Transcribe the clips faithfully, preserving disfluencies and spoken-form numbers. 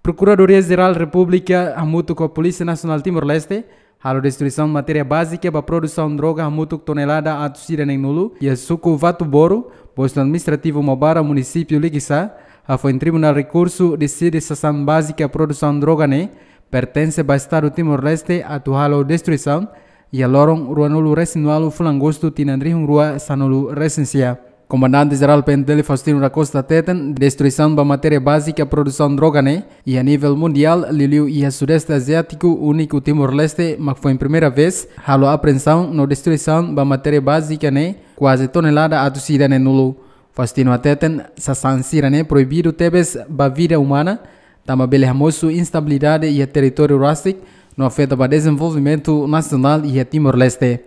Prokuradoria Jerál Repúblika hamutuk ho Polísia Nasionál Timor-Leste halo destruisaun matéria bázika ba produsaun droga hamutuk tonelada atus ida neen-nulu iha suku Vatuboru, postu administrativu Mobara, munisípiu Likisá, hafoin Tribunál Rekursu deside sasán bázika produsaun droga ne'e pertense ba Estadu Timor-Leste atu halo destruisaun iha loron ruanulu-resin-ualu fulan Agostu tinan rihun rua sanulu-resin-sia. Komandante Jerál P N T L Faustino da Costa hateten, destruisaun ba matéria bázika produsaun droga ne'e iha nivel mundiál, liuliu iha Sudeste Aziátiku, úniku Timor-Leste mak foin primeira vez halo apreensaun no destruisaun ba matéria bázika ne'e kuaze tonelada atus ida neen-nulu. Faustino hateten, sasán sira-ne'e proibidu tebes ba vida umana, tanba bele hamosu instabilidade iha territóriu rasik no afeta ba dezenvolvimentu nasionál iha Timor-Leste.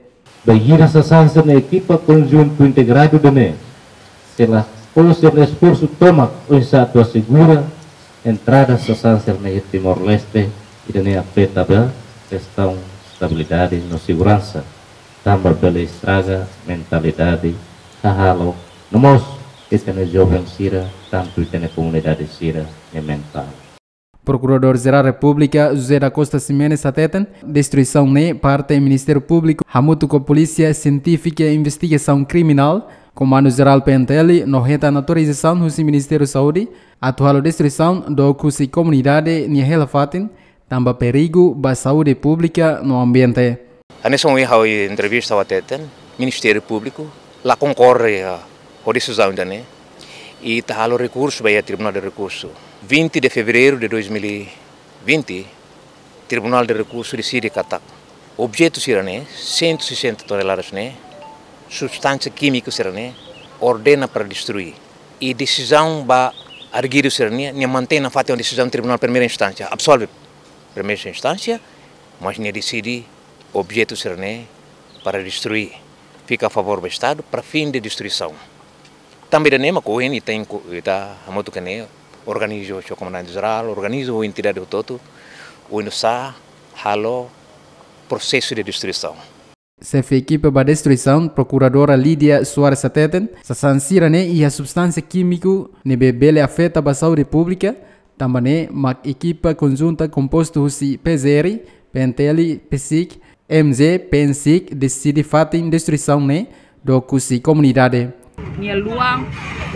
Bainhira sasán sira-ne'e ekipa konjuntu integradu ida-ne'e sei la fó sira-nia esforsu tomak oinsá atu asegura entrada sasán sira-ne'e iha Timor-Leste, ida-ne'e afeta ba kestaun estabilidade no seguransa, tanba bele estraga mentalidade hahalok no mós ita-nia joven sira, tantu ita-nia komunidade sira-nia mentál. Prokuradór Jerál Repúblika José da Costa Ximenes hateten, destruisaun ne'e parte Ministériu Públiku hamutuk ho Polísia Sientífika Investigasaun Kriminál, Komandu Jerál P N T L, no hetan autorizasaun husi Ministériu Saúde atu halo destruisaun dook husi komunidade nia hela-fatin, tanba perigu ba saúde públika no ambiente. Hanesan ohin ha'u entrevista ha'u hateten, Ministériu Públiku la konkorda, ah, ho desizaun ida-ne'e, i ita halo rekursu ba iha Tribunál de Rekursu. Vinte de fevereiro de dois mil e vinte, Tribunál de Rekursu deside katak objetu sira-ne'e, cento e sessenta toneladas ne'e, substánsia kímiku sira-ne'e, ordena para destrui. I desizaun ba arguidu sira-ne'e, nia mantein nafatin desizaun Tribunál Primeira Instánsia, absolve Primeira Instánsia, mas nia deside objetu sira-ne'e para destrui, fika a favór ba Estadu para fin de destruisaun. Tanba ida-ne'e mak ohin ita inko-, ita hamutuk ne'e, organiza ho Komandante Jerál, organiza ho entidade hotu-hotu, oinsá halo prosesu de destruisaun. Xefe ekipa ba destruisaun, Prokuradora Lídia Soares hateten, sasán sira-ne'e iha substánsia kímiku ne'ebé bele afeta ba saúde públika, tanba ne'e mak ekipa konjunta kompostu husi P G R, P N T L, PCIC, M G, PNCIC deside fatin destruisaun ne'e dook husi komunidade. Nia luan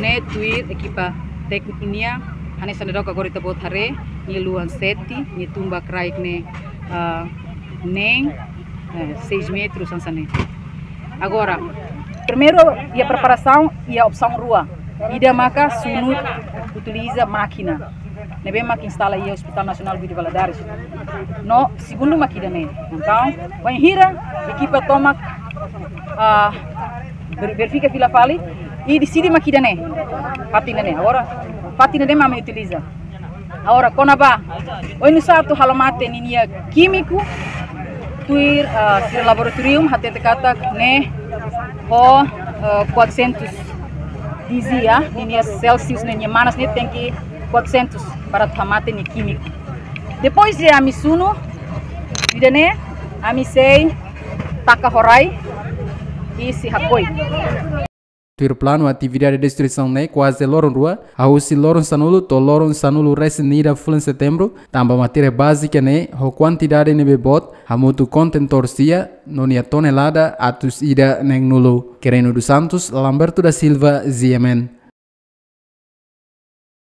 ne'e tuir ekipa tékniku nian, hanesan dadauk agora ita-boot haree, nia luan sete, nia tumba kraik ne'e, ah, neen, eh, seis metros hanesan ne'e. Agora, primeiru, iha preparasaun iha opsaun rua. Ida maka sunu utiliza mákina ne'ebé mak instala iha Hospital Nasionál Guido Valadares. No segundu mak ida-ne'e. Entaun, bainhira ekipa tomak, ah, ver-, verifika fila fali i deside mak ida-ne'e. Fatin ne'e. Agora, fatin ne'e mak ami utiliza. Agora, kona-ba oinsá atu halo mate ninia kímiku, tuir, ah, sira laboratóriu hatete katak ne'e ho, ah, quatrocentos dizia, ninia Celsius, ninia manas ne'e tenke quatrocentos para atu hamate nia kímiku. Depois de ami sunu ida-ne'e, ami sei taka ho rai i sei hakoi. Tuir planu, atividade destruisaun ne'e kuaze loron rua, hahú husi loron sanulu to'o loron sanulu-resin-ida fulan Setembru, tanba matéria bázika ne'e ho kuantidade ne'ebé boot, hamutuk kontentór sira, no nia tonelada atus ida neen-nulu. Quereno dos Santos, Lamberto da Silva, G M N.